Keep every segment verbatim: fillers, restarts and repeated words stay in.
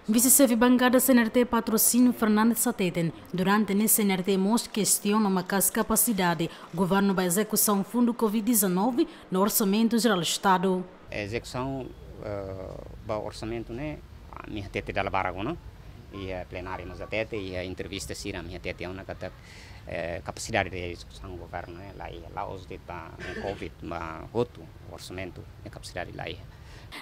Vise-xefe bankada C N R T Patrocínio Fernandes hateten, durante ne'e C N R T mós kestiona maka'as kapasidade governu ba ezekusaun fundu covid dezanove no Orsamentu Jerál Estadu. Ezekusaun, eh, ba orsamentu ne'e, ah, ami hatete dala barak ona. Iha plenária mós hatete, iha entrevista sira ami hatete ona katak, eh, kapasidade de ezekusaun governu ne'e laiha, la'ós de'it ba covid, ba hotu orsamentu ne'e kapasidade laiha.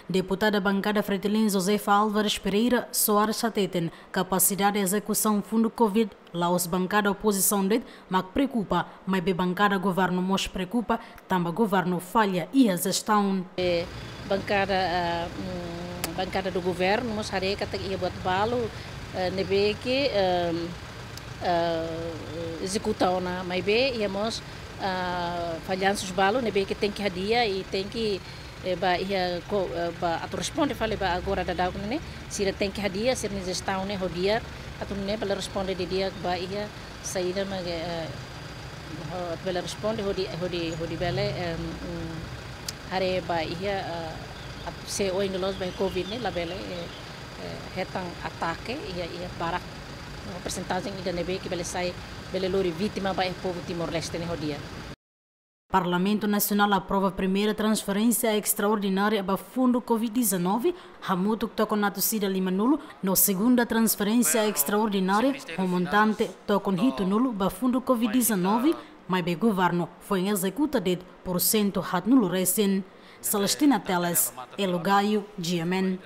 Deputada bankada Fretilin Josefa Álvares Pereira Soares hateten, kapasidade ezekusaun fundu covid la'ós bankada opozisaun de'it mak preokupa, maibé bankada governu mós preokupa, tanba governu falla iha jestaun. Eh, bankada, ah, mm, bankada do governu mós haree katak iha buat balu, eh, ne'ebé ke, ehm, eh, ezekuta ona, maibé iha mós, ah, fallansus balu ne'ebé ke tenke hadi'a i tenke, eh, ba iha ko-, eh, ba atu responde fali ba agora daudaun ne'e, sira tenke hadi'a sira-nia jestaun ne'e ho di'ak, atu nune'e bele responde didi'ak ba iha saida mak, eh, ho-, bele responde hodi, hodi, hodi bele, em, mm, haree ba iha, eh, atu se oin loloos ba covid ne'e labele, eh, eh, hetan atake iha, iha barak. No persentajen ida ne'ebé ke bele sai, bele lori vítima ba iha povu Timor-Leste ne'e ho di'ak. Parlamentu Nasionál aprova primeira transferénsia estraordinária ba fundu covid dezanove, hamutuk tokon atus ida limanulu, no segunda transferénsia estraordinária ho montante tokon hitunulu ba fundu covid dezanove, maibé governu foin ezekuta de'it porsentu haatnulu resin. Celestina Teles, Elo Gaio, G M N.